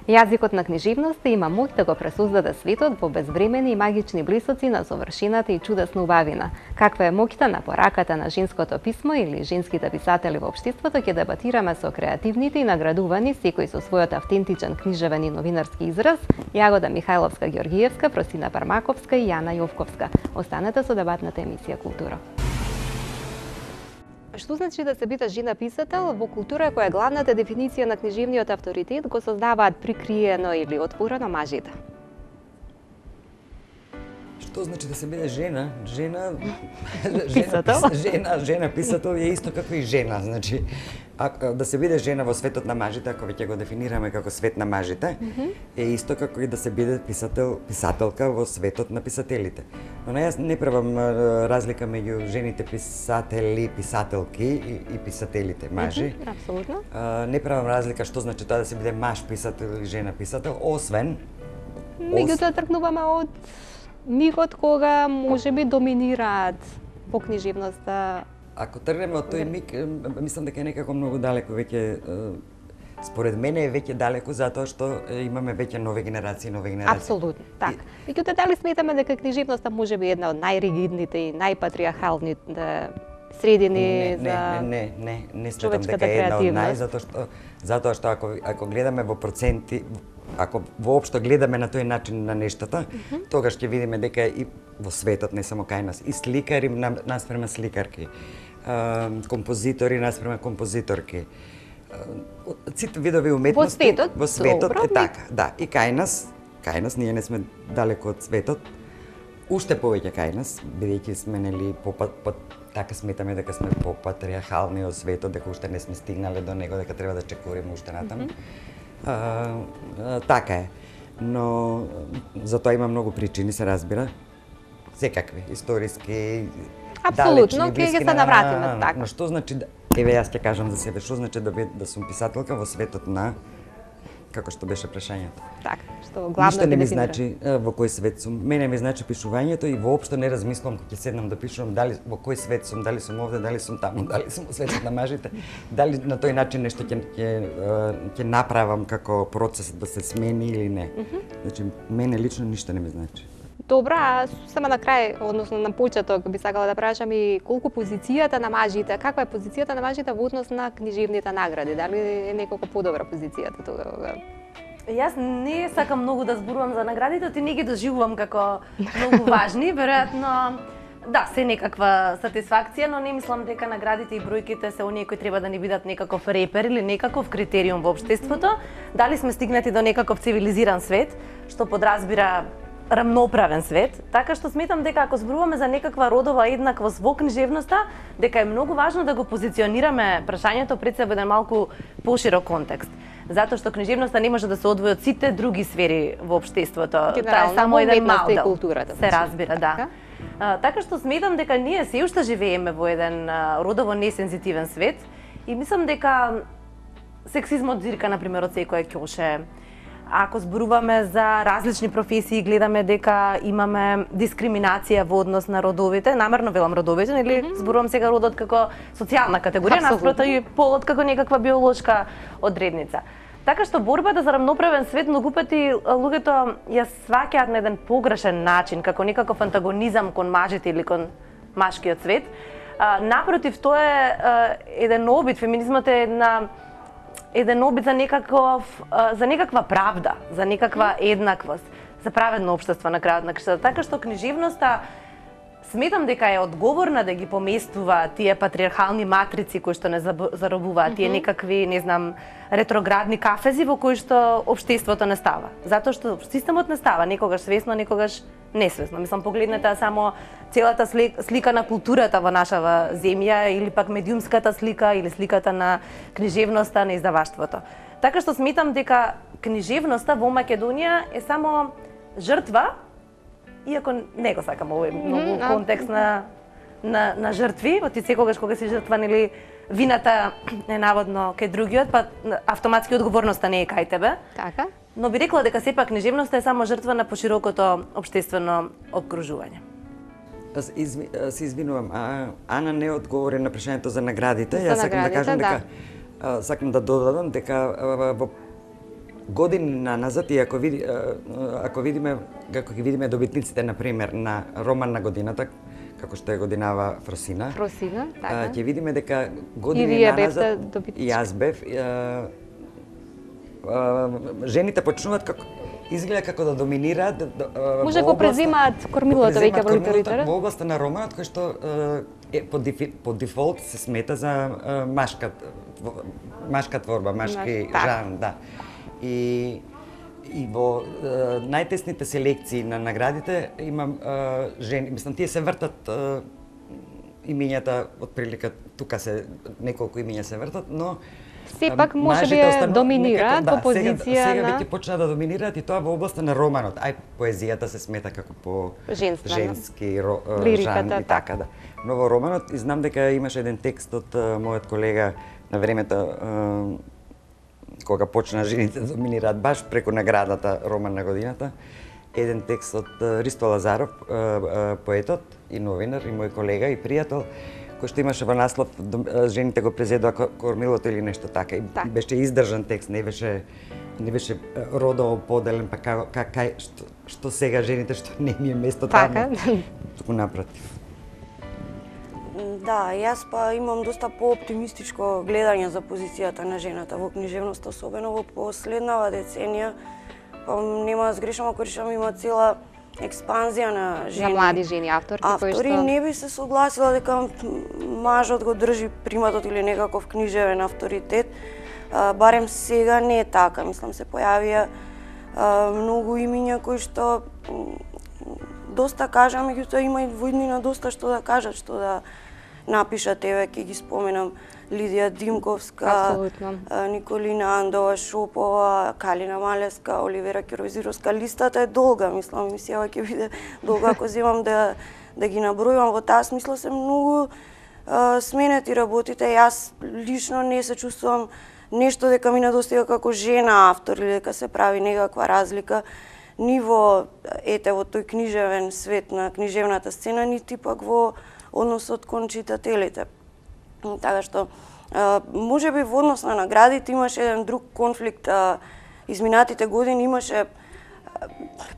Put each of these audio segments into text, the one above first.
Јазикот на книжевноста има моќ да го пресоздаде светот во безвремени и магични блисоци на совршината и чудесна убавина. Каква е моќта на пораката на женското писмо или женските писатели во општеството, ќе дебатираме со креативните и наградувани, секој со својот автентичен книжевен и новинарски израз, Јагода Михајловска-Ѓоргиевска, Просина Пармаковска и Јана Јовковска. Останете со дебатната емисија Култура. Што значи да се биде жена писател во култура која главната дефиниција на книжевниот авторитет го создаваат прикриено или отворено мажите? Што значи да се биде жена? Писател? Жена писател е исто како и жена, значи да се биде жена во светот на мажите, ако веќе го дефинираме како свет на мажите, е исто како и да се биде писателка во светот на писателите. Но јас не правам разлика меѓу жените писатели, писателки и писателите мажи. Апсолутно. Не правам разлика што значи тоа да се биде маж писател или жена писател, освен Меѓутоа тргнуваме од мигот кога можеби доминираат во книжевноста. Ако тргнеме од тој миг, мислам дека е некако многу далеко веќе. Според мене е веќе далеко затоа што имаме веќе нови генерации. Апсолутно, така. Меѓутоа дали сметаме дека книжевноста можеби една од најригидните и најпатриархалните средини за не сметам дека е една од затоа што ако гледаме во проценти, ако воопшто гледаме на тој начин на нештата, тогаш ќе видиме дека и во светот, не само кај нас, и сликари наспрема сликарки, композитори наспрема композиторки, сите видови уметности во светот е така, да, и кај нас ние не сме далеко од светот, уште повеќе кај нас, бидејќи сме нели така сметаме дека сме попатриархални од светот, дека уште не сме стигнале до него, дека треба да чекориме уште натаму. Така е, но за тоа има многу причини, се разбира, секакви, историски, апсолутно, ќе се навратиме така. Но што значи, еве јас ќе кажам за себе, што значи да сум писателка во светот на, како што беше прашањето. Така, што главно ништо не ми значи во кој свет сум. Мене ми значи пишувањето и воопшто не размислувам кога ќе седнам да пишувам дали во кој свет сум, дали сум овде, дали сум таму, дали сум во светот на мажите, дали на тој начин нешто ќе направам како процес да се смени или не. Значи мене лично ништо не ми значи. Добра, а само на крај, односно на почеток, би сакала да прашам и колку позицијата на мажите, каква е позицијата на мажите во однос на книжевните награди? Дали е некако подобра позицијата тога? Јас не сакам многу да зборувам за наградите, ти не ги доживувам како многу важни, веројатно да, се некаква сатисфакција, но не мислам дека наградите и бројките се оние кои треба да ни бидат некаков репер или некаков критериум во општеството. Дали сме стигнати до некаков цивилизиран свет, што подразбира рамноправен свет, така што сметам дека ако зборуваме за некаква родова еднаквост во книжевноста, дека е многу важно да го позиционираме прашањето пред себе во еден малку поширок контекст. Затоа што книжевноста не може да се одвои од сите други сфери во општеството. Тоа е само еден мал дел. Се разбира, да. Така што сметам дека ние се уште живееме во еден родово несензитивен свет и мислам дека сексизмот зирка например од секое ќоше. Ако зборуваме за различни професии, гледаме дека имаме дискриминација во однос на родовите, намерно велам родовите, нели зборувам сега родот како социјална категорија, наспроти и полот како некаква биолошка одредница. Така што борбата за рамноправен свет многу пати луѓето ја сваќаат на еден погрешен начин, како некаков антагонизам кон мажите или кон машкиот свет. Напротив, тоа е еден обид, феминизмот е еден обид за некаква правда, за некаква еднаквост, за праведно општество на крајот на кршата. Така што книжевноста сметам дека е одговорна да ги поместува тие патриархални матрици кои што не заробуваат, тие некакви, не знам, ретроградни кафези во кои што општеството не става. Затоа што системот не става, некогаш свесно, некогаш несвесно. Мислам, погледнете само целата слика на културата во нашава земја или пак медиумската слика или сликата на книжевноста на издаваштвото. Така што сметам дека книжевноста во Македонија е само жртва, иако не го сакам овој многу контекст на жртви, ти секогаш кога си жртва, нели, вината е наводно кај другиот, па автоматски одговорноста не е кај тебе. Така. Но би рекла дека сепак книжевноста е само жртва на поширокото општествено обкружување. Се извинувам, Ана не одговори на прашањето за наградите. Јас сакам да кажам дека сакам да додадам дека години назад и ако видиме добитниците на пример на роман на годината, како што е годинава Фросина. Фросина, така. Ќе видиме дека години назад и јас бев жените почнуваат како изгледа како да доминираат. Може го преземаат кормилото веќе во литература. Во областа на романот кој што по дефолт се смета за машка творба, машки жанр, да. И во најтесните селекции на наградите имам жени, мислам тие се вртат имињата отприлика тука се неколку имиња се вртат, но сепак може би доминираат во позиција сега веќе почна да доминираат и тоа во областа на романот. Поезијата се смета како по женски жанр и така да. Но во романот и знам дека имаше еден текст од мојот колега на времето кога почна жените да доминираат баш преку наградата Роман на годината, еден текст од Ристо Лазаров, поетот и новинар и мој колега и пријател, кој што имаше во наслов жените го презедоа кормилото или нешто така. И беше издржан текст, не беше родово поделен, па што сега жените што не ми е место таму. Туку напротив. Да, јас па имам доста по-оптимистичко гледање за позицијата на жената во книжевноста, особено во последнава деценија. Па нема да сгрешам ако решам има цела експанзија на жени. На млади жени авторки кои што... Автори не би се согласила дека мажот го држи приматот или некаков книжевен авторитет. Барем сега не е така. Мислам се појавија многу имиња кои што доста кажа, меѓутоа има и во иднина доста што да кажат, што да напишат. Еве ќе ги споменам Лидија Димковска, Николина Андова Шопова, Калина Малевска, Оливера Кировизировска. Листата е долга, мислам, емисијава ќе биде долга ако земам да ги набројувам. Во таа смисла се многу сменети работите. Јас лично не се чувствувам нешто дека ми недостига како жена автор или дека се прави некаква разлика ни во тој книжевен свет на книжевната сцена, нити пак во односот кон читателите. Така што, може би во однос на наградите имаше еден друг конфликт. Изминатите години имаше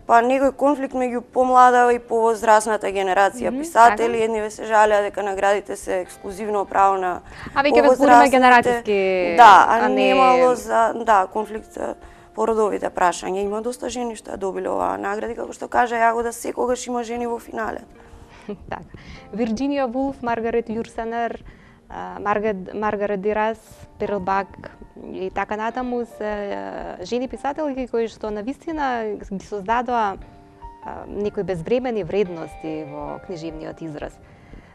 па некој конфликт меѓу помлада и повозрасната генерација писатели. Едниве се жалеа дека наградите се ексклузивно право на веќе разбориме генеративски, а немало за конфликт по родовите прашања. Има доста жени што ја добиле оваа награди, како што кажа Јагода, секогаш има жени во финале. Така. Вирџинија Вулф, Маргарет Јурсенер, Маргарет Дюрас, Перл Бак и така натаму се жени писателки кои што навистина ги создадоа некои безвремени вредности во книжевниот израз.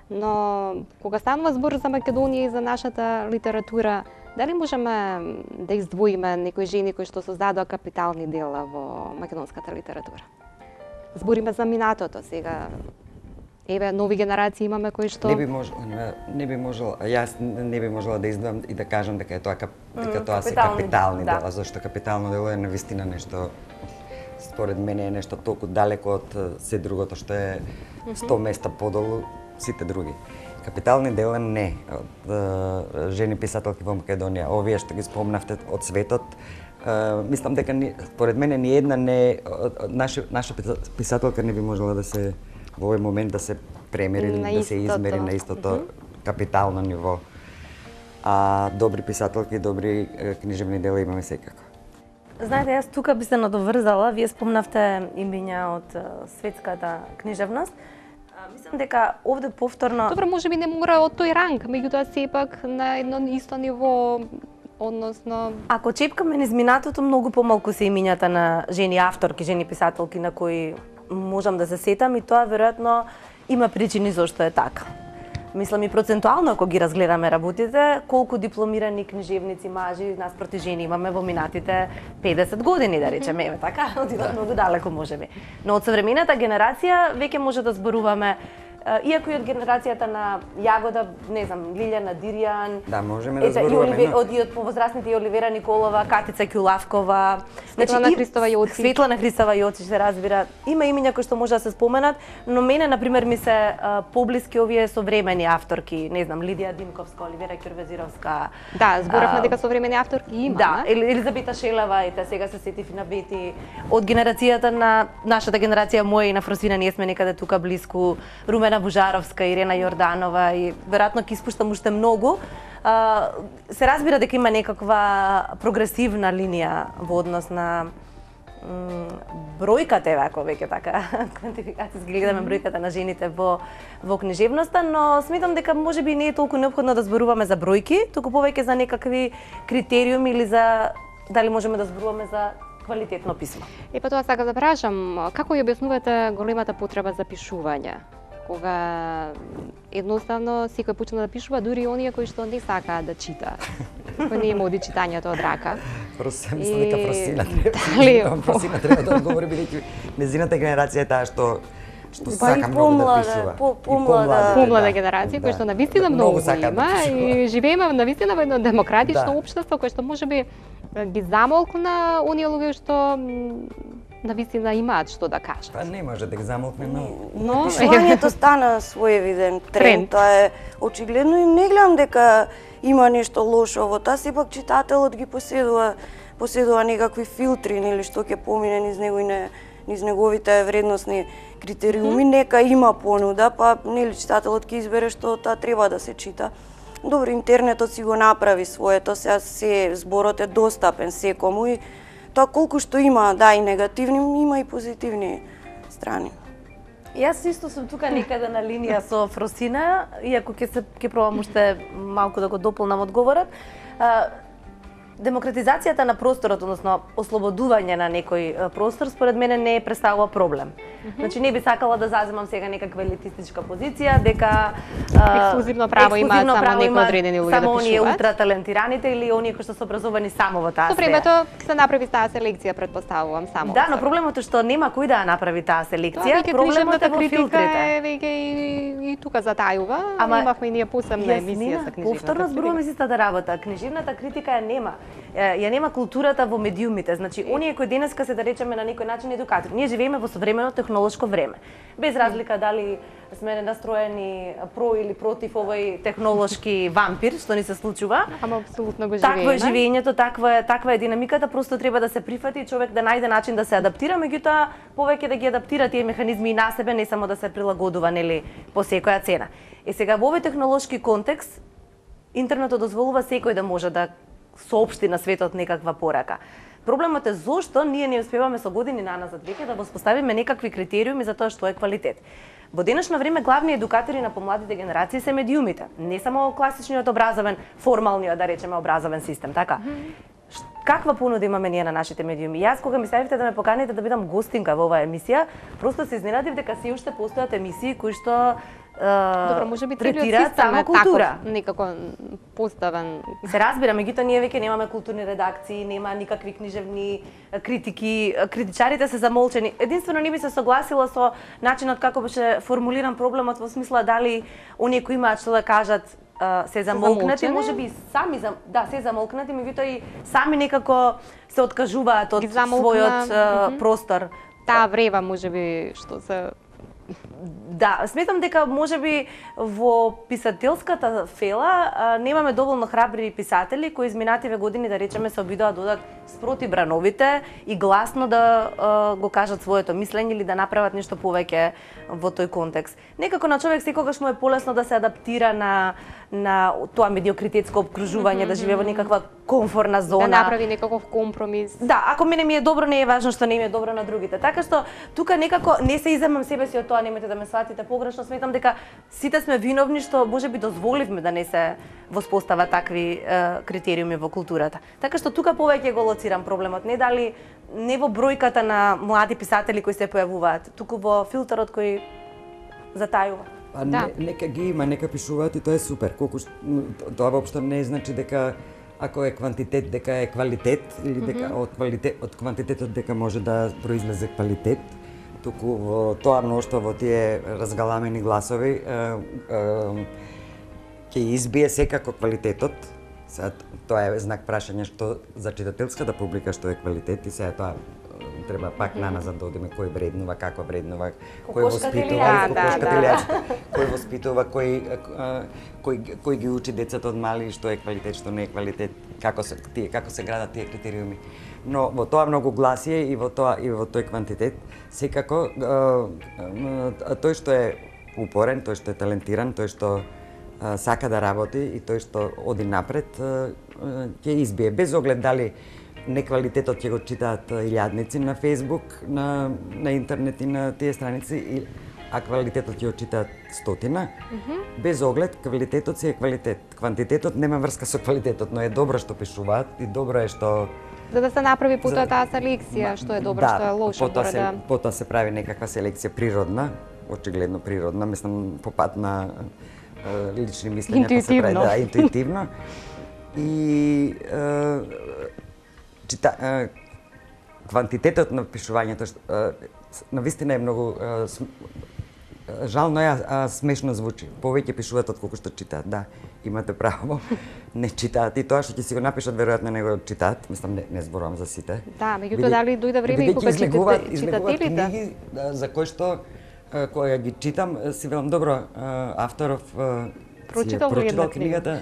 Но кога станува збор за Македонија и за нашата литература, дали можеме да издвоиме некои жени кои што создадоа капитални дела во македонската литература? Збориме за минатото сега. Еве, нови генерации имаме кои што... Не би можела, јас не би можела да издвоам и да кажам дека тоа се капитални дела, зашто капитално дело е навистина нешто, според мене е нешто толку далеко од се другото што е 100 места подолу сите други. Капитални дела не, од жени писателки во Македонија, овие што ги спомнавте од светот, мислам дека според мене ни една наша писателка не би можела да се во овој момент да се премери, да се измери на истото капитално ниво. А добри писателки, добри книжевни дела имаме секако. Знаете, јас тука би се надоврзала, вие спомнавте имиња од светската книжевност. Мислам дека овде повторно... Добро, може би не мора од тој ранг, меѓутоа сепак на едно исто ниво, односно... Ако чепкаме низ минатото, многу помалку се имињата на жени авторки, жени писателки на кои можам да се сетам и тоа веројатно има причини зашто е така. Мислам и процентуално ако ги разгледаме работите, колку дипломирани книжевници мажи наспроти жени имаме во минатите 50 години, да речеме, така, одидат многу далеко можеби. Но од современата генерација веќе може да зборуваме иако и од генерацијата на Јагода, не знам, Лилјана Дирјан, да, можеме да зборуваме, од повозрастните Оливера Николова, Катица Ќулавкова, Светлана Христова Јоцич. Светлана Христова Јоцич, се разбира. Има имиња кои што може да се споменат, но мене например ми се поблиски овие современи авторки, не знам, Лидија Димковска, Оливера Ќурвезировска. Да, зборавме дека современи авторки има. Да, Елизабета Шелева, ете сега се сетив и на Бети. Од генерацијата на нашата генерација, моја и на Фросина, ние сме некаде тука блиску. Румена Бужаровска, Ирена Јорданова и веројатно ќе испуштам уште многу. Се разбира дека има некаква прогресивна линија во однос на бројката, ако веќе така квантификацијски гледаме бројката на жените во книжевноста, но сметам дека можеби не е толку неопходно да зборуваме за бројки, туку повеќе за некакви критериуми или за дали можеме да зборуваме за квалитетно писмо. Па тоа сакам да прашам, како ја објаснувате големата потреба за пишување? Кога едноставно секој почна да пишува, дури и оние кои што не сакаат да чита. Кој не има оди читањето од рака. Мислам дека Фросина треба да одговори, бидејќи незината генерација е таа што сака многу да пишува. Помлада генерација, која што навистина многу има и живееме навистина во едно демократично општество кое што можеби ги замолкна оние луѓе што навистина имаат што да кажат. Па не може да ги замолкне, но пишувањето стана своевиден тренд. Тоа е очигледно и не гледам дека има нешто лошо во тоа, сепак читателот ги поседува некакви филтри, нели, што ќе помине низ неговите вредносни критериуми, нека има понуда, па нели читателот ќе избере што таа треба да се чита. Добро, интернетот си го направи своето, сега се зборот е достапен секому и тоа колку што има, да, и негативни, има и позитивни страни. Јас исто сум тука некаде на линија со Фросина, иако ќе пробам уште малку да го дополнам одговорот. Демократизацијата на просторот, односно ослободување на некој простор, според мене не представува проблем. Значи не би сакала да заземам сега некаква елитистичка позиција, дека ексклузивно право имаат само некои одредени луѓе да пишуваат. Само оние ултраталентираните или оние кои што се образовани само во таа сфера. Со времето се направи таа селекција, претпоставувам само. Да, но проблемот е што нема кој да ја направи таа селекција. Проблемот е во филтрите. Веќе и тука затајува. Имавме и ние посебна емисија за книжевната. Повторно зборуваме си истата работа. Книжевната критика ја нема. Ја нема културата во медиумите. Значи, оние кои денеска се да речеме на некој начин едукатори. Ние живееме во современо технолошко време. Без разлика дали сме настроени про или против овој технолошки вампир што ни се случува. Ама апсолутно го живееме. Такво е живењето, таква е динамиката, просто треба да се прифати и човек да најде начин да се адаптира, меѓутоа повеќе да ги адаптира тие механизми и на себе, не само да се прилагодува, нели, по секоја цена. И сега во овој технолошки контекст интернетот дозволува секој да може да соопшти на светот некаква порака. Проблемот е зошто ние не успеваме со години наназад веќе да воспоставиме некакви критериуми за тоа што е квалитет. Во денешно време главни едукатори на помладите генерации се медиумите, не само класичниот образовен, формалниот, да речеме, образовен систем, така? Каква понуда имаме ние на нашите медиуми? Јас кога ми ставивте да ме поканите да бидам гостинка во оваа емисија, просто се изненадив дека се уште постојат емисии кои што добро, можеби третираат само култура. Некако поставен. Се разбира, меѓутоа ние веќе немаме културни редакции, нема никакви книжевни критики, критичарите се замолчени. Единствено не би се согласила со начинот како беше формулиран проблемот во смисла дали оние кои имаат што да кажат се замолкнати, можеби сами се замолкнати, меѓутоа и сами некако се откажуваат од својот простор. Таа врева можеби што се Да, сметам дека можеби во писателската фела немаме доволно храбри писатели кои изминативе години, да речеме, се обидоа да додат спроти брановите и гласно да го кажат своето мислење или да направат нешто повеќе во тој контекст. Некако на човек секогаш му е полесно да се адаптира на тоа медиокритетско обкружување, да живее во некаква комфорна зона. Да направи некаков компромис. Да, ако мене ми е добро, не е важно што не им е добро на другите. Така што тука некако не се иземам себе си од тоа, немете да ме сватите погрешно, сметам дека сите сме виновни што можеби дозволивме да не се воспостава такви критериуми во културата. Така што тука повеќе го лоцирам проблемот, не во бројката на млади писатели кои се појавуваат, туку во филтерот кој затајува. Нека ги има, нека пишуваат и тоа е супер. Тоа воопшто не значи дека ако е квантитет дека е квалитет или дека од квантитетот дека може да произлезе квалитет. туку во тоа мноштво, во тие разгаламени гласови, ќе избие секако квалитетот. Сега, тоа е знак прашање што за читателската публика што е квалитет и сега тоа треба пак наназад да одиме кој вреднува, како вреднува, кој воспитува, кој воспитува, кој ги учи децата од мали што е квалитет, што не е квалитет, како се градат тие критериуми. Но во тоа многогласие и во тој квантитет секако тој што е упорен, тој што е талентиран, тој што сака да работи и тој што оди напред ќе избие без оглед дали неквалитетот ќе го читаат илјадници на Facebook, на интернет и на тие страници, а квалитетот ќе го читаат стотина. Без оглед, квалитетот си е квалитет. Квантитетот нема врска со квалитетот, но е добро што пишуваат и добро е што... За да се направи потоа таа селекција, што е добро, што е лошо. Потоа се прави некаква селекција природна, очигледно природна, мислам по пат на лични мислења, па се прави, да, интуитивно. И квантитетот на пишувањето навистина е многу жално е, а смешно звучи. Повеќе пишуваат отколку што читаат, да, имате право. Не читаат и тоа што ќе си го напишат веројатно не го читаат, мислам не зборувам за сите. Да, меѓутоа дали дојде време и кога читателите книги за кои што кога ги читам си велам добро, авторов прочитал книгата,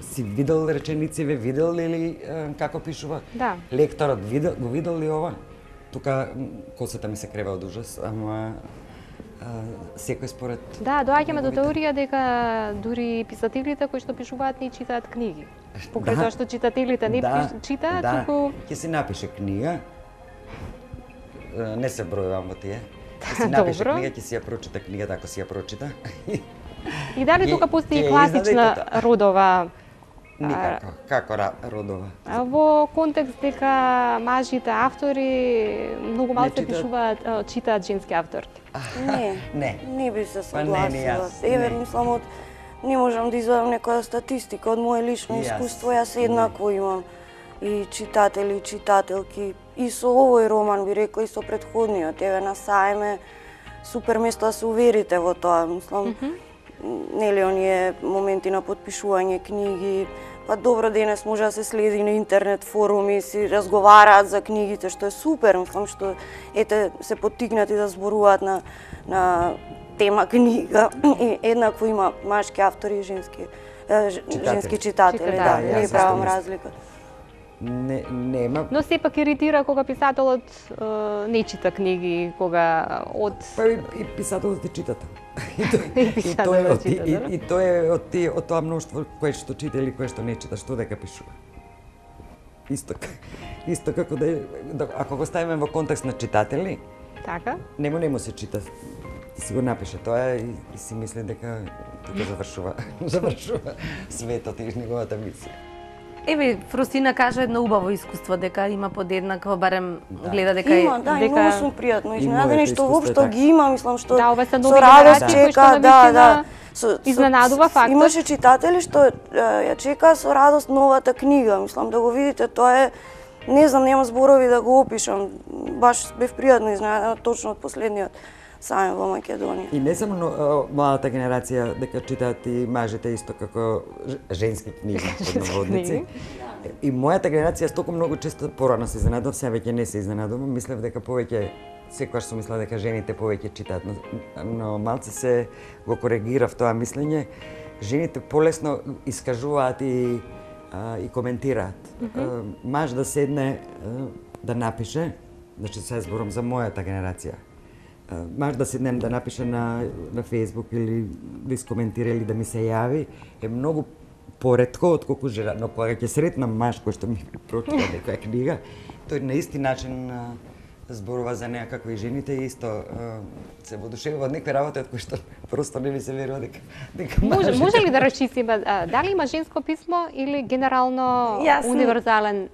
си видел реченициве, видел ли како пишува? Да. Лекторот го видел ли ова? Тука косата ми се крева од ужас, ама секој според... Да, доаѓаме до теорија дека дури писателите кои што пишуваат не читаат книги. Покрај тоа што читателите не читаат, туку... Ќе си напише книга, не се бројувам во тие, ќе си напише книга, ќе си ја прочита книгата, ако си ја прочита. И дали тука постои класична родова... Никако. Како родова? Во контекст дека мажите автори многу мал се пишуваат, читаат женски автори. Не би се согласила. Еве, мислам, не можам да извадам некоја статистика од моје лично искуство, јас еднакво имам и читатели, и читателки. И со овој роман би рекла и со претходниот. Еве на Саеме супер место да се уверите во тоа, мислам. Нели оние моменти на потпишување книги, па добро денес може да се следи на интернет форуми, си разговараат за книгите, што е супер, мислам што ете се поттикнати да зборуваат на тема книга и еднакво има машки автори и женски читатели, да, не правам разлика. Нема. Но сепак иритира кога писателот не чита книги, кога од... Па и писателот ти читат. И тоа е од тоа мноштво кое што чита или кое што не чита, што дека пишува. Исто како да ако го ставиме во контекст на читатели, така? Нему се чита. Си го напише тоа и си мисли дека тука завршува светот и неговата мисија. Еве, Фросина кажа едно убаво искуство, дека има подеднакво, барем гледа дека е... Има, да, и многу сум пријатно изненадени што воопшто ги има, мислам што со радост чека, да. Изненадува фактот. Имаше читатели што ја чекаа со радост новата книга, мислам да го видите, тоа е, не знам, нема зборови да го опишам, баш бев пријатно изненадена точно од последниот Саем во Македонија. И не само младата генерација дека читаат и мажите исто како женски книги, под наводници. И мојата генерација толку многу често порано се изненадував, сега веќе не се изненадувам, мислев дека повеќе секогаш сум мислела дека жените повеќе читаат, но малце се го коригирав тоа мислење. Жените полесно искажуваат и коментираат. Маж да седне да напише, значи сега зборам за мојата генерација. Маж да седне да напише на Facebook или да искоментира или да ми се јави е многу поретко отколку жена, но кога ќе сретнам маж кој што ми прочита некоја книга, тој на исти начин зборува за неа како и жените и исто се воодушевува од некои работи од кои што просто не ми се верува дека може ли да расчистиме дали има женско писмо или генерално универзален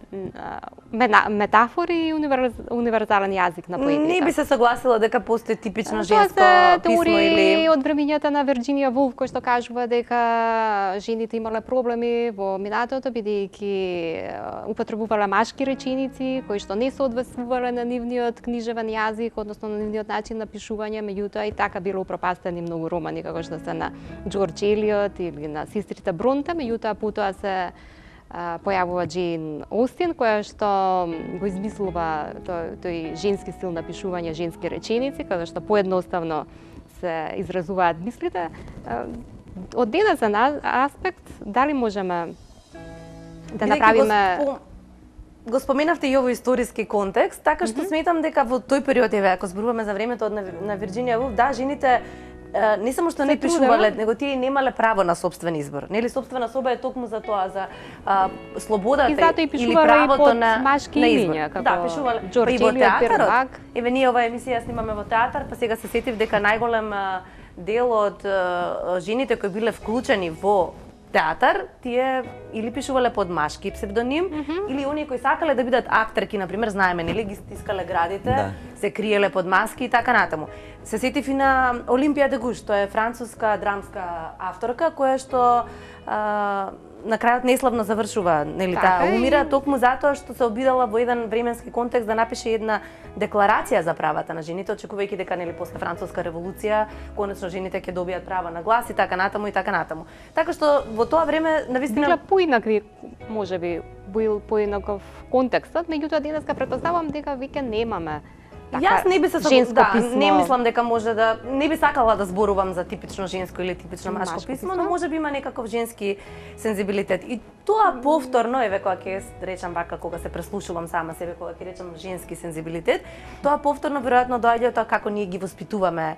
метафори и универзален јазик на поетите. Не би се согласила дека постои типично женско писмо или од времењата на Вирџинија Вулф, кој што кажува дека жените имале проблеми во минатото бидејќи употребувале машки реченици кои што не се одвесувале на нивниот книжевен јазик, односно на нивниот начин на пишување, меѓутоа и така било упропастени многу романи како што се на Џорџ Елиот или на сестрите Бронте, меѓутоа потоа се појавува Джейн Остин, која што го измислува тој женски стил на пишување, женски реченици, каде што поедноставно се изразуваат мислите. Од денесен аспект, дали можеме да направиме... Го споменавте и овој историски контекст, така што сметам дека во тој период, ако зборуваме за времето на Вирџинија Вулф, да, жените не само што не пишувале, него тие немале право на собствен избор. Нели собствена соба е токму за тоа, за слободата или правото на машки имиња, како да, пишувале Џорџ Елиот Первак. Еве ние оваа емисија снимаме во театар, па сега се сетив дека најголем дел од жените кои биле вклучени во театар, тие или пишувале под машки псевдоним, или оние кои сакале да бидат актерки, например, знаеме, нели ги стискале градите, се криеле под маски и така натаму. Се сетив и на Олимпија де Гуш, тоа е француска драмска авторка која што на крајот неславно завршува, нели, таа умира токму затоа што се обидала во еден временски контекст да напише една декларација за правата на жените, очекувајќи дека нели после француска револуција конечно жените ќе добијат права на глас и така натаму и така натаму. Така што во тоа време навистина била поинакви, можеби бил поинаков контекстот, меѓутоа денеска претпоставувам дека веќе немаме. Јас не би се не мислам дека може да не би сакала да зборувам за типично женско или типично машко писмо, но можеби има некаков женски сензибилитет. И тоа повторно, еве кога ќе речам вака, кога се преслушувам сама себе, кога ќе речам женски сензибилитет, тоа повторно веројатно доаѓа од тоа како ние ги воспитуваме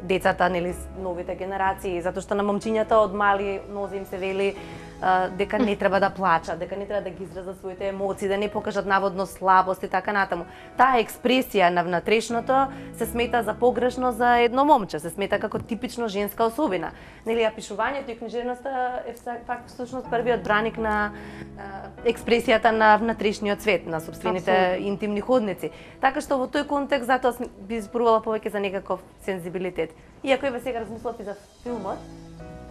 децата, нели, новите генерации, затоа што на момчињата од мали нозе им се вели дека не треба да плачат, дека не треба да ги изразат своите емоции, да не покажат наводно слабост и така натаму. Таа експресија на внатрешното се смета за погрешно за едно момче, се смета како типично женска особина. Нели, пишувањето и книжевноста е всушност првиот браник на експресијата на внатрешниот свет, на сопствените интимни ходници. Така што во тој контекст затоа би зборувала повеќе за некаков сензибилитет. Иако еве сега размислав и за филмот,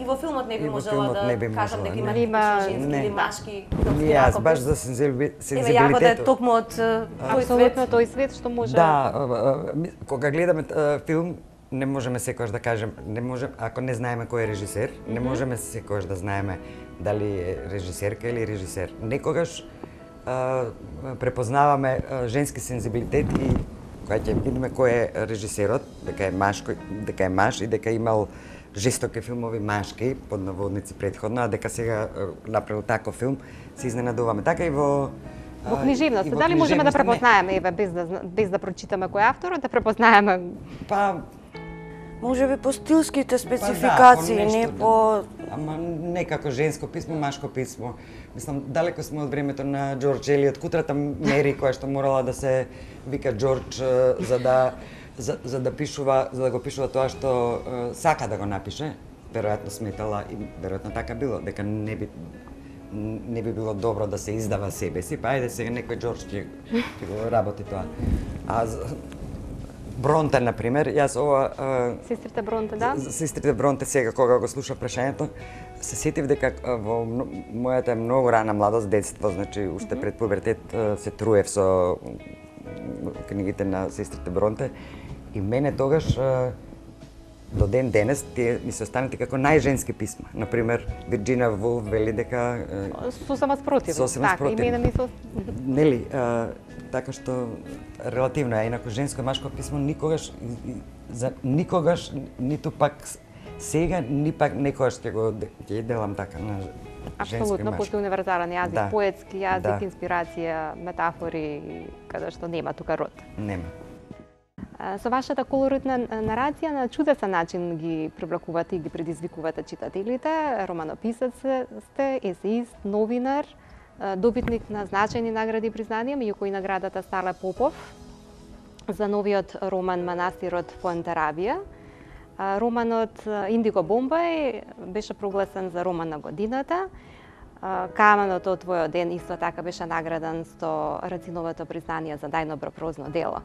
и во филмот не би можела да кажам дека има женски или машки. Не, јас баш за сензибилитет. Еве јагода е токму од тој свет. Тој свет што може... Да, кога гледаме филм, не можеме секогаш да кажем, не можеме, ако не знаеме кој е режисер, не можеме секогаш да знаеме дали е режисерка или режисер. Некогаш препознаваме женски сензибилитет и кога ќе видиме кој е режисерот, дека е маж и дека имал жестоки филмови машки, под наводници предходно, а дека сега направил таков филм, се изненадуваме. Така и во книжевноста. Дали можеме да препознаеме, еве, без да прочитаме кој е авторот, да препознаеме? Па можеби по стилските спецификации, не по... Ама некако женско писмо, машко писмо. Мислам, далеко сме од времето на Џорџ Елиот, кутрата Мери, која што морала да се вика Џорџ за да го пишува тоа што сака да го напише. Веројатно сметала и веројатно така било, дека не би било добро да се издава себе си, па ајде сега некој Џорџ ќе го работи тоа. А Бронте, например, јас ова... Сестрите Бронте, да? Сестрите Бронте, сега кога го слушав прашањето, се сетив дека во мојата многу рана младост, детство, значи уште пред пубертет, се труев со книгите на сестрите Бронте и мене тогаш до ден денес тие ми се останати како најженски писма. Например, Вирџинија Вулф вели дека сосема спротивно. Така, и мене ми се... Нели, така што релативно е, инаку женско и машко писмо никогаш ниту пак сега, ни пак некогаш ќе делам така на женско и машко. Апсолутно, постои универзален јазик, поетски јазик, инспирација, метафори, каде што нема тука род. Нема. Со вашата колоритна нарација на чудесен начин ги привлекувате и ги предизвикувате читателите. Романописец сте, есеист, новинар, добитник на значајни награди и признанија, меѓу кои наградата Стале Попов за новиот роман Манастирот Фуентерабија. Романот Индиго Бомбај беше прогласен за роман на годината. Каменот од твојот ден исто така беше награден со Рациновото признание за најдобро прозно дело.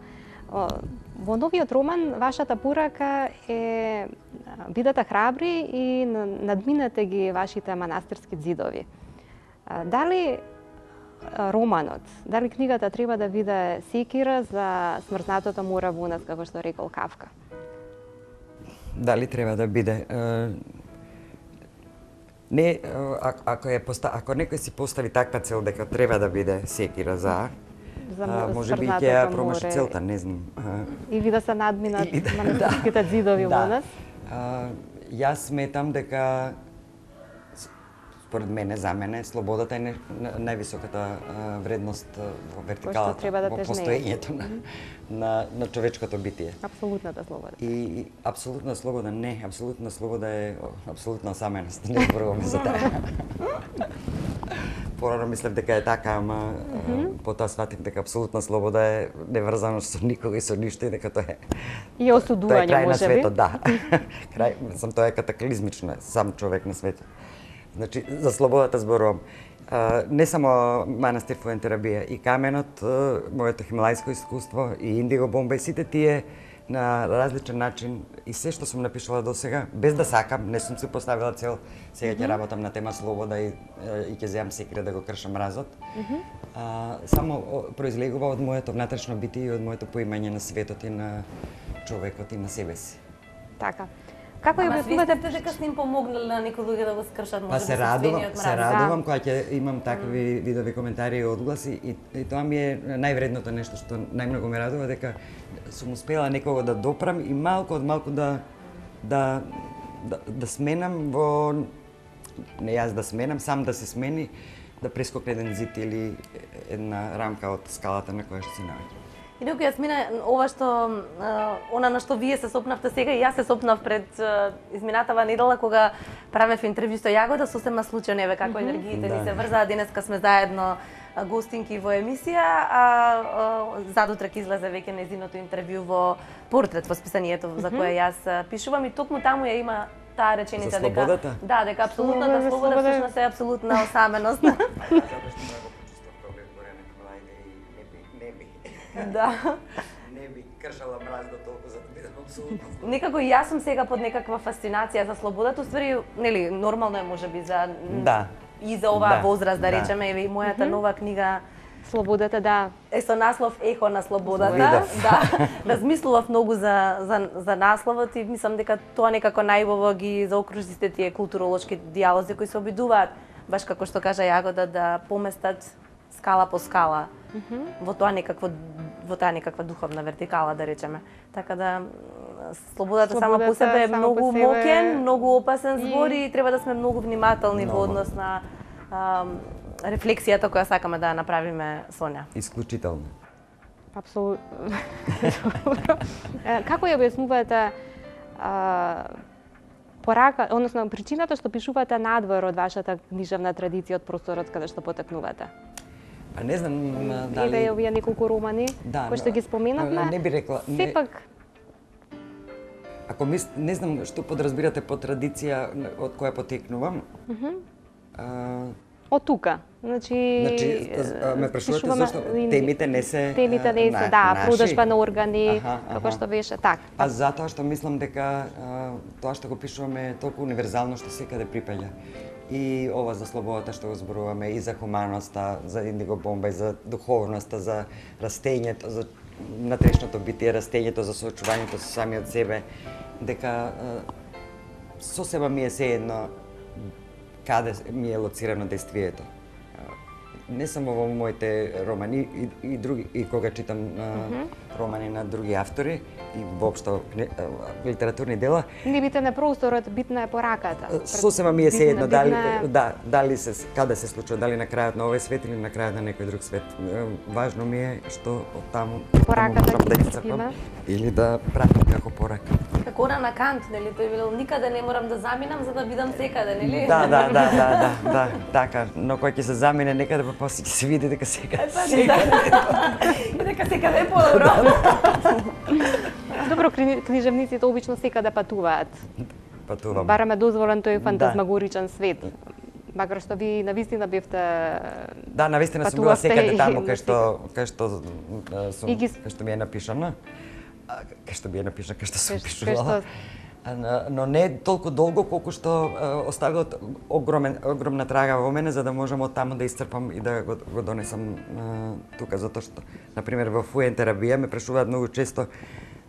Во новиот роман вашата порака е бидете храбри и надминете ги вашите манастирски ѕидови. Дали романот, дали книгата треба да биде секира за смрзнатото море во нас, како што рекол Кавка? Дали треба да биде? Не, ако некој си постави таква цел дека треба да биде секира за може би ќе ја промаши целта, не знам. Или да се надминат манастирските ѕидови во нас? Јас сметам дека според мене, за мене, слободата е највисоката вредност во вертикалата, во постоењето на човечкото битие. Апсолутната слобода. И апсолутна слобода не, апсолутна слобода е апсолутна саменост, не зборуваме за таа. Порано мислев дека е така, ама потоа сватив дека апсолутна слобода е неврзано со никога и со ништо и дека тоа е. И осудување, крај на можеби. светот, да. Тоа е катаклизмично, сам човек на светот. Значи, за слободата зборувам. Не само манастир Фуентерабија, и Каменот, моето хималајско искуство, и Индиго Бомба, и сите тие на различен начин, и се што сум напишала до сега, без да сакам, не сум си поставила цел, сега ќе работам на тема слобода и ќе земам секира да го кршам мразот. Само произлегува од моето внатрешно битие и од моето поимање на светот и на човекот и на себе си. Така. Како ја објаснувате дека сте им помогнали на некои луѓе да го скршат може се радувам кога ќе имам такви видови коментари и одгласи и тоа ми е највредното нешто што најмногу ме радува, дека сум успела некого да допрам и малку од малку да сменам во не јас да сменам, сам да се смени, да прескокне еден зид или една рамка од скалата на која што се наоѓа. Инаку јас мина ова што она на што вие се сопнавте сега и јас се сопнав пред изминатава недела кога правев интервју со Јагода, сосема случајно еве како енергиите ни се врзаа, денеска сме заедно гостинки во емисија, а задутре ќе излезе веќе нејзиното интервју во Портрет, во списанието за кое јас пишувам и токму таму ја има таа реченица дека дека апсолутната слобода всушност е апсолутна осаменост. Да. Не би кршала мраз до толку за да бидам апсолутно. Некако и јас сум сега под некаква фасцинација за слободата, уствари, нели, нормално е можеби за и за оваа возраст да речеме, еве и мојата нова книга Слободата, да. Е со наслов Ехо на слободата. Да. Размислував многу за насловот и мислам дека тоа некако најубаво ги заокружи сите тие културолошки дијалози кои се обидуваат, баш како што кажа Јагода, да поместат скала по скала во таа некаква духовна вертикала, да речеме. Така да слободата сама по себе е многу мокен, многу опасен збор и треба да сме многу внимателни во однос на рефлексијата која сакаме да ја направиме со неа. Исклучително. Апсолутно. Како ја објаснувате порака, односно причината што пишувате надвор од вашата книжевна традиција, од просторот каде што потекнувате? А не знам дали... Еве овие неколку романи кои што ги споменавме. Не би рекла... Сепак... Ако не знам што подразбирате по традиција од која потекнувам. Од тука. Значи ме прашувате зашто темите не се наши. Да, продажба на органи, како што беше така. А затоа што мислам дека тоа што го пишуваме е толку универзално што секаде припаѓа. И ова за слободата што го зборуваме, и за хуманоста, за Индиго Бомба, и за духовноста, за растењето, за натрешното битие, растењето, за соочувањето со самиот себе, дека сосема ми е сеедно каде ми е лоцирано действието. Не само во моите романи и други, и кога читам романи на други автори и воопшто литературни дела. Не бите на просторот, битна е пораката. Сосема ми е сеедно дали се каде се случува, дали на крајот на овој свет или на крајот на некој друг свет. Важно ми е што од таму пораката да исцрпам или да пратам како порака. Како на Кант, нели, тој велел никаде не морам да заминам за да бидам секаде, нели? Да, така, но кој ќе се замине некаде па после ќе се види дека секаде. И дека секаде е подобро. Добро, книжевниците обично секаде патуваат. Патувам. Бараме дозволен тој фантазмагоричен свет. Макар што ви навистина бевте Да, навистина сум била секаде таму кај што ми е напишано. Кај што би е напишано, кај што сум пишувала. Но не толку долго колку што оставило огромна трага во мене за да можам од таму да исцрпам и да го донесам тука, затоа што на пример во Фуентерабија ме прашуваат многу често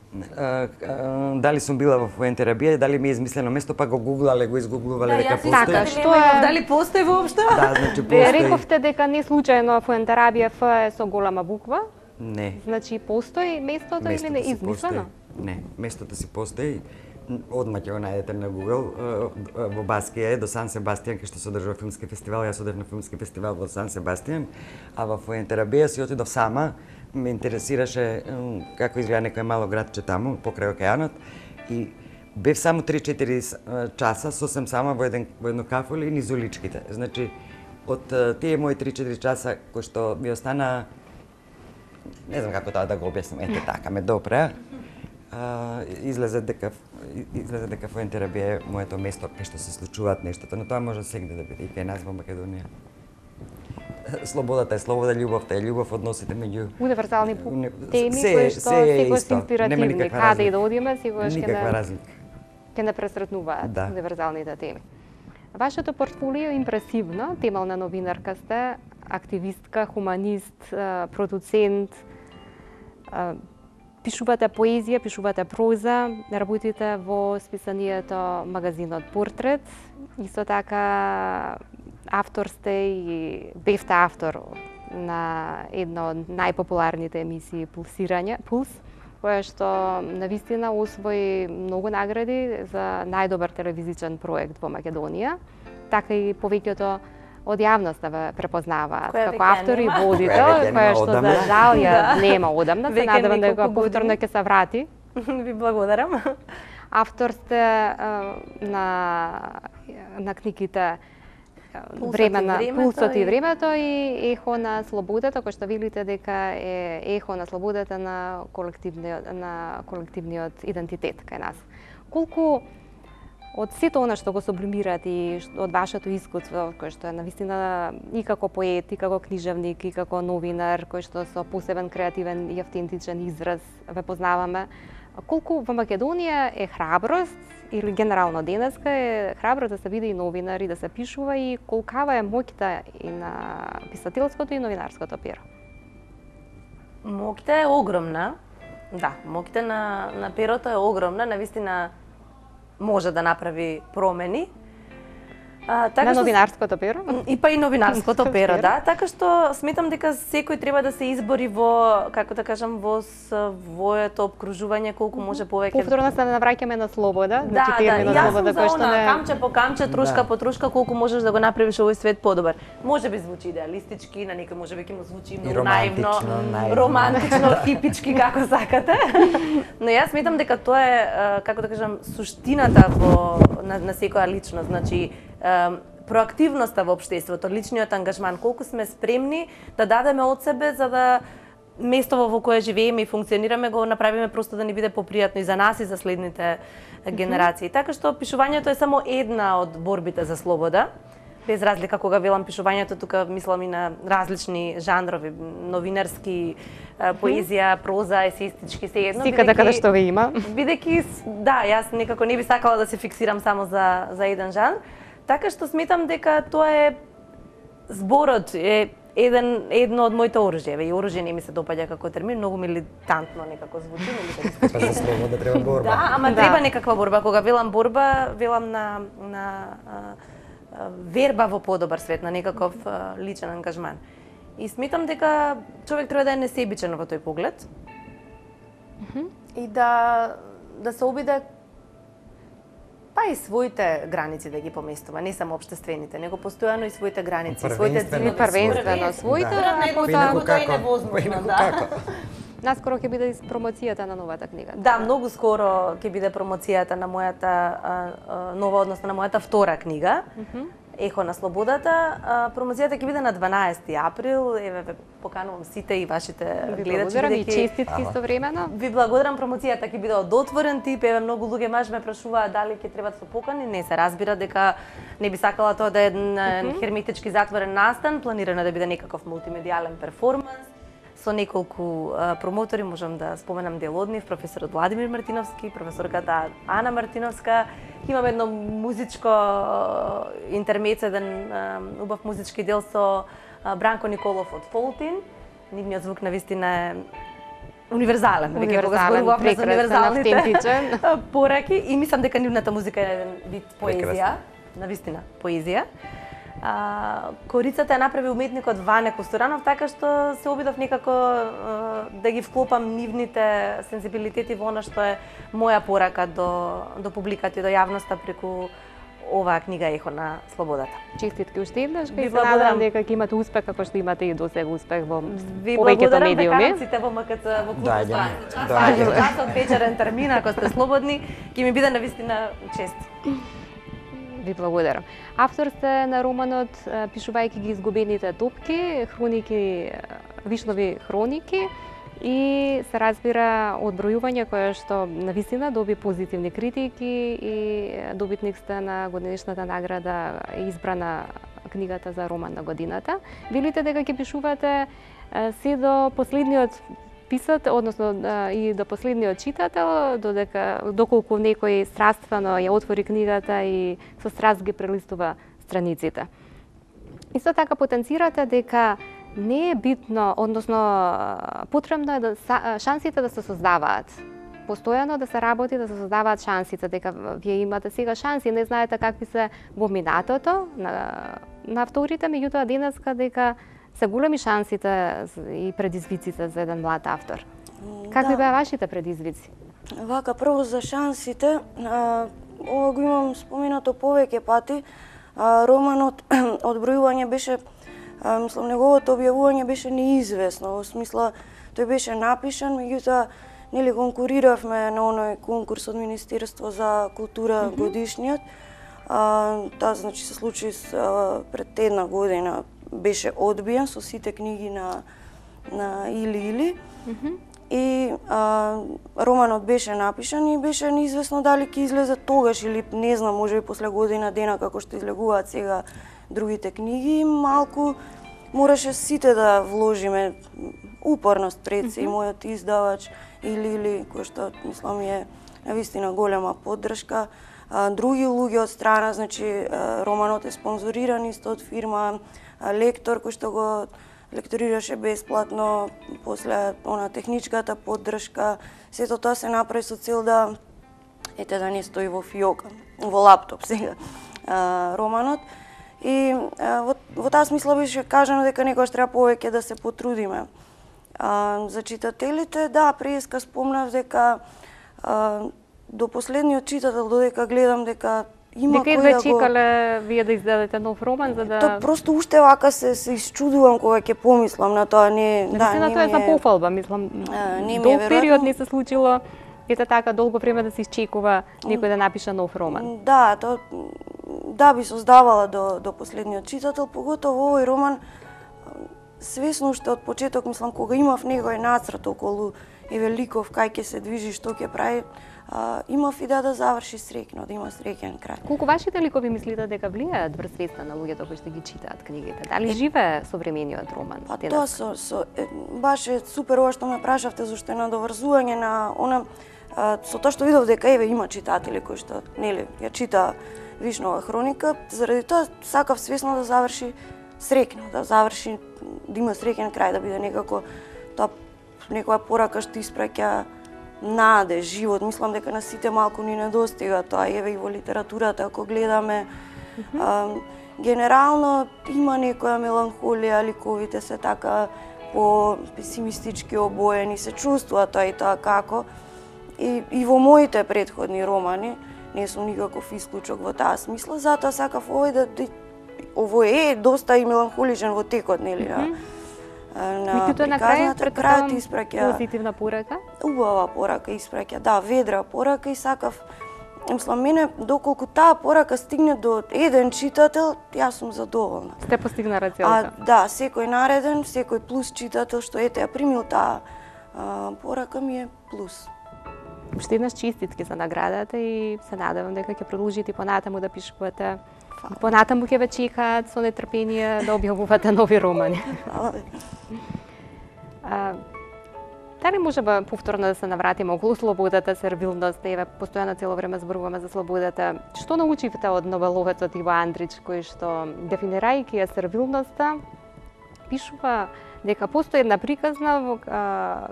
дали сум била во Фуентерабија, дали ми е измислено место, па го гуглале, го изгуглувале дека постои. Така, што е? Дали постои воопшто? Да, значи постои. Рековте дека не случајно Фуентерабија Ф е со голема буква? Не. Значи постои местото или не измислено? Не, местото си постои. Одма ќе го најдете на Google. Во Баскија е до Сан Себастијан, кај што се одржува филмски фестивал. Јас одев на филмски фестивал во Сан Себастијан, а во Фуентерабија си отидов сама. Ме интересираше како изгледа некој мало градче таму, покрај океанот. И бев само 3-4 часа, сосем сама во едно кафеле и низ уличките. Значи, од тие мои 3-4 часа кои што ми остана, не знам како тоа да го објаснам, ете така, ме допреа. Излезе дека Фуентерабија е моето место кај што се случуваат нештата, но тоа може сегде да биде и кај нас во Македонија. Слободата е слобода, љубовта е љубов, односите меѓу универзални теми кои што секогаш се инспиративни, каде и да одиме, секогаш ќе не пресретнуваат универзалните теми. Вашето портфолио е импресивно, темална новинарка сте, активистка, хуманист, продуцент, пишувате поезија, пишувате проза, работите во списанието магазинот Портрет, исто така автор сте и бевте автор на една од најпопуларните емисии Пулс, која што навистина освои многу награди за најдобар телевизичен проект во Македонија, така и повеќето од јавноста ве препознаваат како автор и водител, која што за жал ја нема одамна, се надевам дека повторно ќе се врати. Ви благодарам. Автор сте на книгите Пулсот и времето и Ехо на слободата, кој што велите дека е ехо на слободата на колективниот идентитет кај нас. Колку од сето она што го сублимират и од вашето искуство, кој што е навистина и како поет, и како книжевник, и како новинар, кој што со посебен креативен и автентичен израз ве познаваме, колку во Македонија е храброст или генерално денеска е храбро да се биде и новинар и да се пишува и колкава е моќта и на писателското и новинарското перо? Моќта е огромна. Да, моќта на перото е огромна, навистина може да направи промени. На новинарското перо? И па и новинарското перо, да. Така што сметам дека секој треба да се избори во, како да кажам, во своето обкружување колку може повеќе. Повторно се навраќаме на слобода, значи терминот слобода кој што не камче по камче, трошка по трошка колку можеш да го направиш овој свет подобар. Може би звучи идеалистички, на некој можеби ќе му звучи многу наивно, романтично, хипички како сакате. Но јас сметам дека тоа е, како да кажам, суштината на секоја личност, значи проактивноста во општеството, личниот ангажман, колку сме спремни да дадеме од себе за да местото во кое живееме и функционираме го направиме просто да ни биде попријатно и за нас и за следните генерации. Така што пишувањето е само една од борбите за слобода. Без разлика кога велам пишувањето, тука мислам и на различни жанрови, новинарски, поезија, проза, есеистички, се едно. Секаде каде што ви има. Бидејќи, да, јас некако не би сакала да се фиксирам само за еден жанр. Така што сметам дека тоа е зборот е едно од моите оружје. И оружје не ми се допаѓа како термин, многу милитантно некако звучи, Па за слобода треба борба. Да, ама треба некаква борба. Кога велам борба, велам на верба во подобар свет, на некаков личен ангажман. И сметам дека човек треба да е несебичен во тој поглед. И да се обиде па и своите граници да ги поместува, не само општествените, него постојано и своите граници, своите цели, првенствено своите, тоа е невозможно, да. Наскоро ќе биде промоцијата на новата книга. Да, многу скоро ќе биде промоцијата на мојата нова, односно на мојата втора книга. Ехо на слободата. Промоцијата ќе биде на 12 април. Еве ве поканувам сите и вашите гледачи. Благодарам и честитки истовремено. Ви благодарам, промоцијата ќе биде од отворен тип. Еве многу луѓе маш ме прашуваат дали ќе треба да се покани. Не се разбира дека не би сакала тоа да е херметички затворен настан, планирано да биде некаков мултимедијален перформанс со неколку промотори, можам да споменам дел од нив, професорот Владимир Мартиновски, професорката Ана Мартиновска. Имаме едно музичко интермецо, еден убав музички дел со Бранко Николов од Фолтин. Нивниот звук навистина е универзален, веќе кога зборувавме за универзалните пораки, и мислам дека нивната музика е еден вид поезија, навистина поезија. Корицата ја направи уметникот Ване Костуранов, така што се обидов некако да ги вклопам нивните сензибилитети во она што е моја порака до публиката и до јавноста преку оваа книга Ехо на слободата. Честитки уште еднаш, и се надевам дека ќе имате успех како што имате и досега успех во повеќето медиуми. Ви благодарам дека сите во МКЦ во клубот страница. Часот вечерен термин, ако сте слободни, ќе ми биде навистина чест. Ви благодарам. Автор сте на романот пишувајќи ги изгубените топки, хроники, Вишнови хроники, и се разбира одбројување кое што навистина доби позитивни критики и добитник сте на годинишната награда избрана книгата за роман на годината. Велите дека ќе пишувате се до последниот писател, односно и до последниот читател, доколку некој страствено ја отвори книгата и со страст ги прелистува страниците. Исто така потенцирате дека не е битно, односно потребно е шансите да се создаваат. Постојано да се работи да се создаваат шансите, дека вие имате сега шанси, не знаете какви се во минатото на авторите, меѓутоа денеска дека се големи шансите и предизвиците за еден млад автор. Какви беа вашите предизвици? Вака, прво за шансите, ова го имам споменато повеќе пати. Романот одбројување беше, мислам, неговото објавување беше неизвестно, во смисла тој беше напишан, меѓутоа нели конкуриравме на оној конкурс од Министерство за култура годишниот. Таа значи се случи пред една година, беше одбиен со сите книги на Или. И романот беше напишан и беше неизвестно дали ќе излезе тогаш или не знам, можеби после година дена како што излегуваат сега другите книги. Малку мораше сите да вложиме упорност пред се, и мојот издавач Или кој што мислам е навистина голема поддршка. Други луѓе од страна, значи романот е спонзориран исто од фирма Лектор, кој што го лекторираше бесплатно, после она техничката поддршка. Сето тоа се направи со цел да да не стои во фиока, во лаптоп сега романот. И во таа смисла беше кажано дека некогаш треба повеќе да се потрудиме. За читателите, да, преска спомнав дека до последниот читател, додека гледам дека има кој да го... чекале вие да издадете нов роман, за да... Тоа просто уште вака се исчудувам кога ќе помислам на тоа. На тоа е за пофалба, мислам. Долг период не се случило, ете така долго време да се исчекува некој да напише нов роман. Да, да би создавала до последниот читател, поготово овој роман свесно уште од почеток, мислам, кога имав некој нацрт околу Евеликов, кај ќе се движи, што ќе прави, имав идеја да заврши среќно, да има среќен крај. Колку вашите ликови мислите дека влијаат врз свеста на луѓето кои што ги читаат книгите? Дали живее современиот роман? Тоа баш е супер ова што ме прашавте, зашто е надоврзување на она со тоа што видов дека еве има читатели кои што нели ја чита Вишнова хроника, заради тоа сакав свесно да заврши среќно, да заврши, да има среќен крај, да биде некако тоа некоја порака што испраќа наде, живот. Мислам дека на сите малку ни недостига тоа, еве и во литературата, ако гледаме. Генерално има некоја меланхолија, ликовите се така по песимистички обоени, се чувствува тоа и тоа како. И во моите претходни романи, не сум никаков исклучок во таа смисла, затоа сакав овој е доста и меланхоличен во текот, нели, на приказната, крајот испраќа позитивна порака. Убава порака испраќа, да, ведра порака, и сакав мислам, мене, доколку таа порака стигне до еден читател, јас сум задоволна. Сте постигнала целта? Да, секој нареден, секој плюс читател што ете ја примил таа порака ми е плюс. Уште еднаш честитки за наградата и се надевам дека ќе продолжите понатаму да пишувате. Понатаму ќе ве чекаат со нетрпение да објавувате нови романи. Дали можеме повторно да се навратиме околу слободата, сервилноста, еве постојано цело време зборуваме за слободата. Што научивте од новеловецот Иво Андрич, кој што дефинирајќи ја сервилноста, пишува дека постои една приказна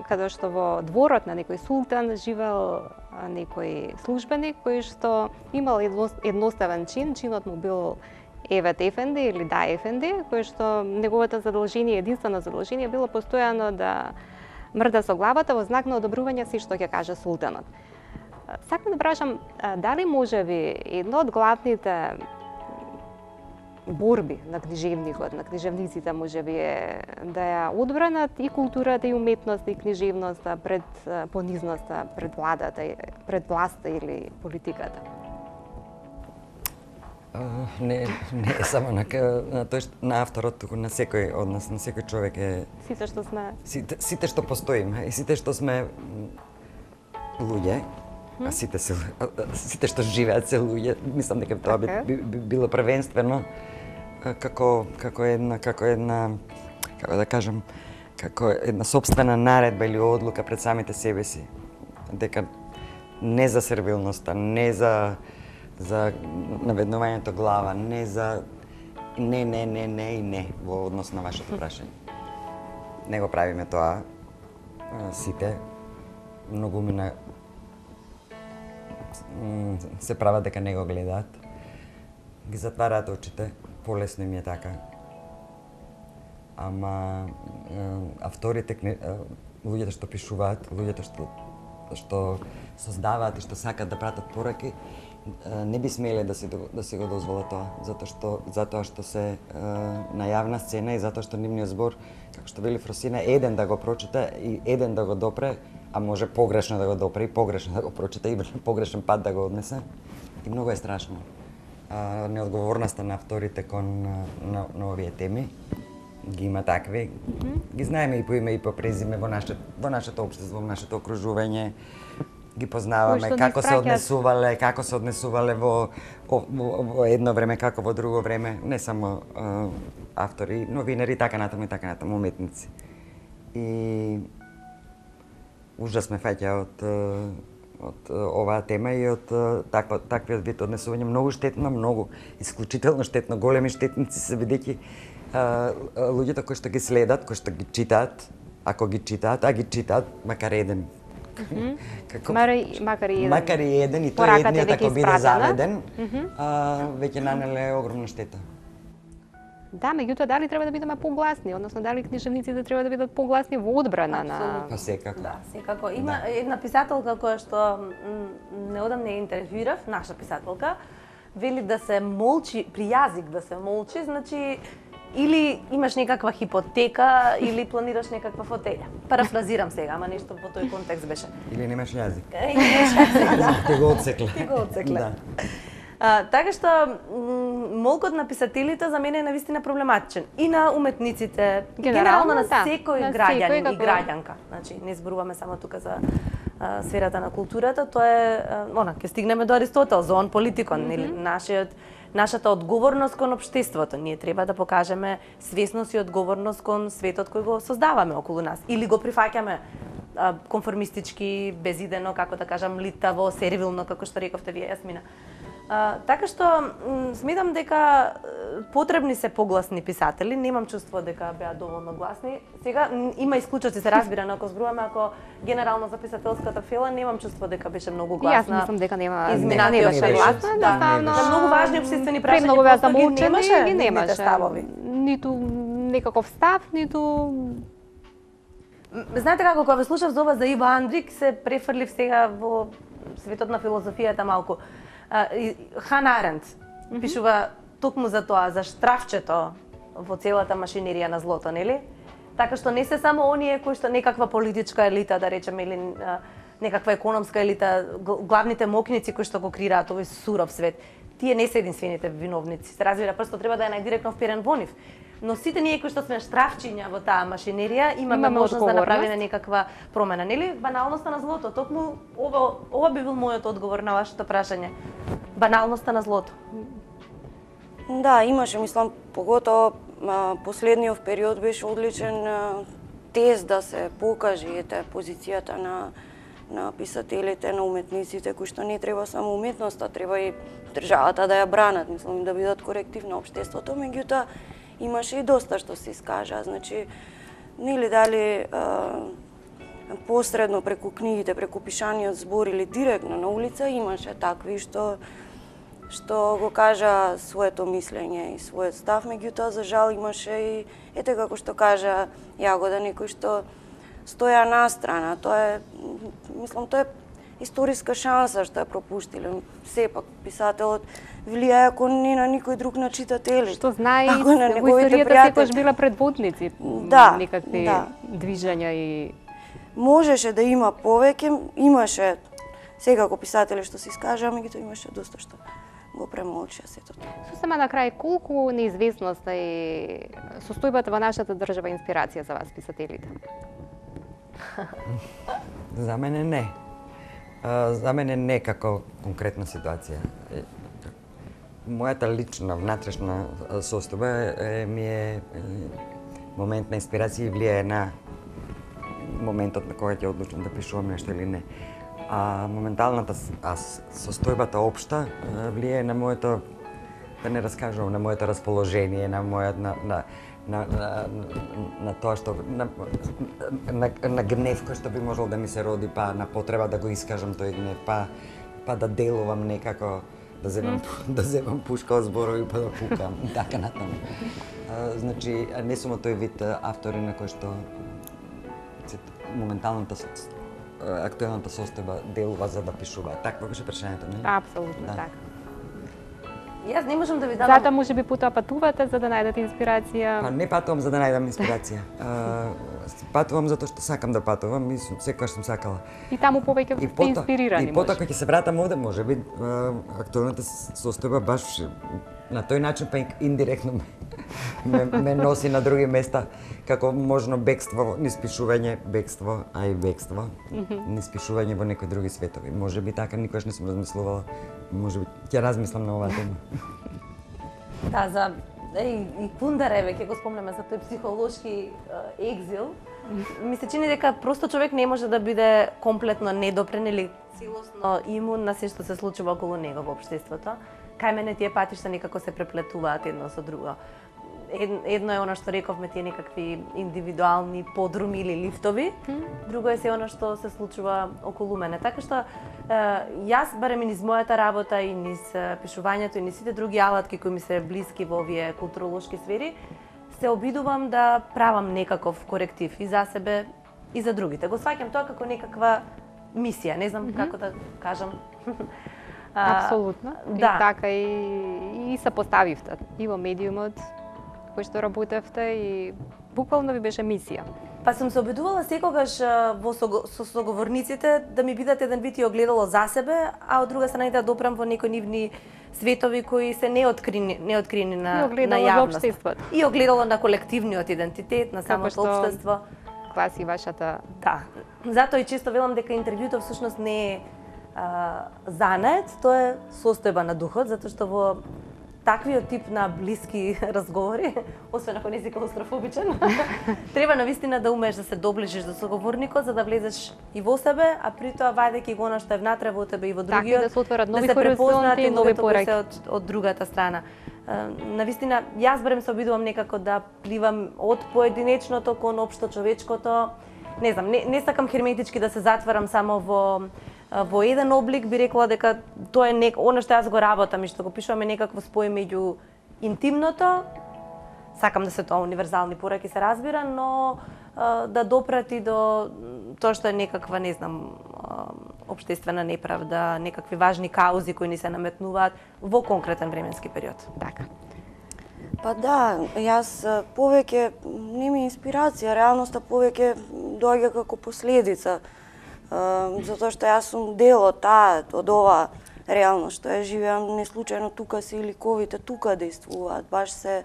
каде што во дворот на некој султан живеел некој службеник кој што имал едноставен чин, чинот му бил Евет Ефенди или Да Ефенди, кој што неговото задолжение, единствено задолжение било постојано да мрда со главата во знак на одобрување се што ќе каже султанот. Сакам да прашам, дали можеби едно од главните борби на книжевникот, на книжевниците можеби е да ја одбранат и културата и уметноста и книжевноста пред понизноста, пред владата, пред власта или политиката? Не е само на авторот, туку на секој од нас, на секој човек е... Сите што сме... Сите што постоиме и сите што сме луѓе, а сите што живеат се луѓе, мислам дека тоа би било првенствено како една собствена наредба или одлука пред самите себе си. Дека не за сервилноста, не за наведнувањето глава, не за не во однос на вашето прашање. Не го правиме тоа сите. Многумина се прават дека не го гледаат. Ги затвараат очите, полесно им е така. Ама авторите, луѓето што пишуваат, луѓето што создаваат и што сакаат да пратат пораки, не би смеле да си го дозволат тоа, затоа што се на јавна сцена и затоа што нивниот збор, како што вели Фросина, еден да го прочита и еден да го допре, а може погрешно да го допре и погрешно да го прочита и погрешен пат да го однесе. И многу е страшно. Неодговорноста на авторите кон на овие теми ги има такви. Ги знаеме и по име и по презиме во нашето општество, во нашето окружување. Ги познаваме како се однесувале во едно време, како во друго време, не само автори, новинари, така натаму, уметници. И ужас ме фаќа од оваа тема и од таквиот вид однесување. Многу штетно, многу исклучително штетно, големи штетници се бидејќи луѓето кои што ги следат, кои што ги читаат, ако ги читаат, а ги читаат макар еден. Макар и еден, и тој едниот ако биде заведен, веќе нанеле огромна штета. Да, меѓутоа дали треба да бидеме погласни, односно дали книжевниците треба да бидат погласни во одбрана на... Па секако. Да, секако. Има една писателка која што неодамна ја интервјуирав, наша писателка, вели да се молчи, при јазик да се молчи, значи или имаш некаква хипотека, или планираш некаква фотеља. Парафразирам сега, ама нешто во тој контекст беше. Или немаш јазик. Ти го отсекле. Ти го отсекле. Така што молкот на писателите за мене е навистина проблематичен. И на уметниците, генерално на секој граѓанин и граѓанка. Значи, не зборуваме само тука за сферата на културата, тоа е, ќе стигнеме до Аристотел, зоон политикон, нели, нашата одговорност кон општеството. Ние треба да покажеме свесност и одговорност кон светот кој го создаваме околу нас. Или го прифаќаме конформистички, безидено, како да кажам, литаво, сервилно, како што рековте вие, Јасмина. Така што сметам дека потребни се погласни писатели, немам чувство дека беа доволно гласни. Сега има исклучоци, се разбира, но ако зборуваме, ако генерално за писателската фела, немам чувство дека беше многу гласна. Јас мислам дека нема не беше гласна, да, многу важни обществени прашања многу беа замолчени и ги немаше ставови. Ниту некаков став, ниту... Знаете како, кога ве слушав за ова за Иво Андрик, се префрлив сега во светот на филозофијата малку. Хана Аренд пишува токму за тоа, за штрафчето во целата машинерија на злото, нели? Така што не се само оние кои што некаква политичка елита, да речеме, или некаква економска елита, главните мокници кои што го креираат овој суров свет. Тие не се единствените виновници. Се разбира, просто треба да е најдиректно вперен во нив. Но сите ние кои што сме штрафчиња во таа машинерија, имаме можност да направиме некаква промена, нели? Баналноста на злото. Токму ова би бил мојот одговор на вашето прашање. Баналноста на злото. Да, имаше, мислам, поготово последниот период беше одличен тест да се покаже позицијата на писателите, на уметниците, кои што не треба само уметноста, треба и државата да ја бранат, мислам, да бидат коректив на општеството, меѓутоа имаше и доста што се искажа, значи, нели дали посредно преку книгите, преку пишаниот збор или директно на улица, имаше такви што го кажа своето мислење и својот став, меѓутоа за жал имаше и ете како што кажа Јагода, некои што стоја настрана. Тоа е, мислам, тоа е историска шанса што ја пропуштиле. Сепак писателот влијае ако не на никој друг на читателите. Што знае и во историјата секогаш била предводници, некакви движења и можеше да има повеќе, имаше секако писатели што се искажаа, меѓутоа имаше доста што го премолчија сето тоа. Сосема на крај, колку неизвестноста и состојбата во нашата држава инспирација за вас писателите? За мене не. За мене не како конкретна ситуација. Мојата лична, внатрешна состојба ми е момент на инспирација и влијае на моментот на кога ќе одлучам да пишувам нешто или не. А моменталната состојбата општа влијае на моето, да не раскажувам, на моето расположение, на мојот на тоа што на гнев кој што би можел да ми се роди, па на потреба да го искажам тој гнев, па да делувам некако, да земам пушка од зборови па да пукам и така натаму. Значи не сум тој вид автори на кој што моменталната актуелната состојба делува за да пишува. Такво беше прашањето, не? Апсолутно така. Јас не можам да ви дадам. Затоа можеби патувате за да најдете инспирација. Па не патувам за да најдам инспирација. Патувам затоа што сакам да патувам и секогаш сум сакала. И таму повеќе сте инспирирани. И потоа кога ќе се вратам овде, можеби актуелната состојба баш на тој начин па индиректно ме носи на други места, како можно бегство, низ пишување, бегство, а и бегство, низ пишување во некои други светови. Можеби така, никогаш не сум размислувала, можеби ќе размислам на оваа тема. Да, за и Кундареве, ќе го спомнеме за тој психолошки екзил. Ми се чини дека просто човек не може да биде комплетно недопрен или целосно имун на се што се случува околу него во општеството. Кај мене тие патишта некако се преплетуваат едно со друго. Едно е она што рековме, тие некакви индивидуални подруми или лифтови, друго е се она што се случува околу мене. Така што јас, барем и низ мојата работа и низ пишувањето и низ сите други алатки кои ми се блиски во овие културолошки сфери, се обидувам да правам некаков коректив и за себе и за другите. Го сваќам тоа како некаква мисија, не знам како да кажам. Апсолутно. Да. И така и се поставивте и во медиумот кој што работевте и буквално ви беше мисија. Па сум се обидувала секогаш со соговорниците да ми бидат еден вид и огледало за себе, а од друга страна и да допрам во некои нивни светови кои се неоткрини на јавност. И огледало на колективниот идентитет, на самото општество. Класи вашата... Да. Затоа и често велам дека интервјуто всушност не е занет, тоа е состојба на духот, затоа што во таквиот тип на блиски разговори, освен ако не си клаустрофобичен, треба навистина да умееш да се доближиш до соговорникот за да влезеш и во себе, а при тоа вајдејќи го она што е внатре во тебе и во другиот, да се отворат нови хоризонти и нови пораки од другата страна. Навистина, јас барем се обидувам некако да пливам од поединечното кон општо човечкото. Не знам, не сакам херметички да се затварам само во еден облик, би рекла дека тоа е она што јас го работам и што го пишуваме некакво спој меѓу интимното. Сакам да се тоа универзални пораки се разбира, но да допрати до тоа што е некаква, не знам, општествена неправда, некакви важни каузи кои ни се наметнуваат во конкретен временски период. Така. Па да, јас повеќе не ми инспирација, реалноста повеќе доаѓа како последица. затоа што јас сум дел од ова реалност што ја живеам, не случајно тука се и ликовите, тука действуваат, баш се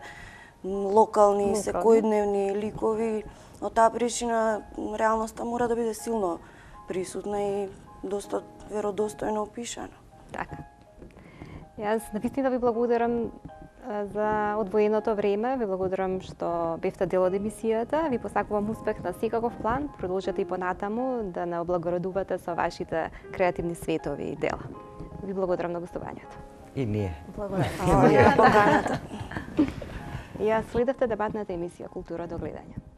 локални, секојдневни ликови. Од таа причина реалноста мора да биде силно присутна и доста веродостојно опишана. Така. Јас навистина ви благодарам за одвоеното време, ви благодарам што бевте дел од емисијата, ви посакувам успех на секаков план, продолжете и понатаму да не облагородувате со вашите креативни светови и дела. Ви благодарам на гостувањето. И ние. Благодарам. Ја следевте дебатната емисија Култура до гледање.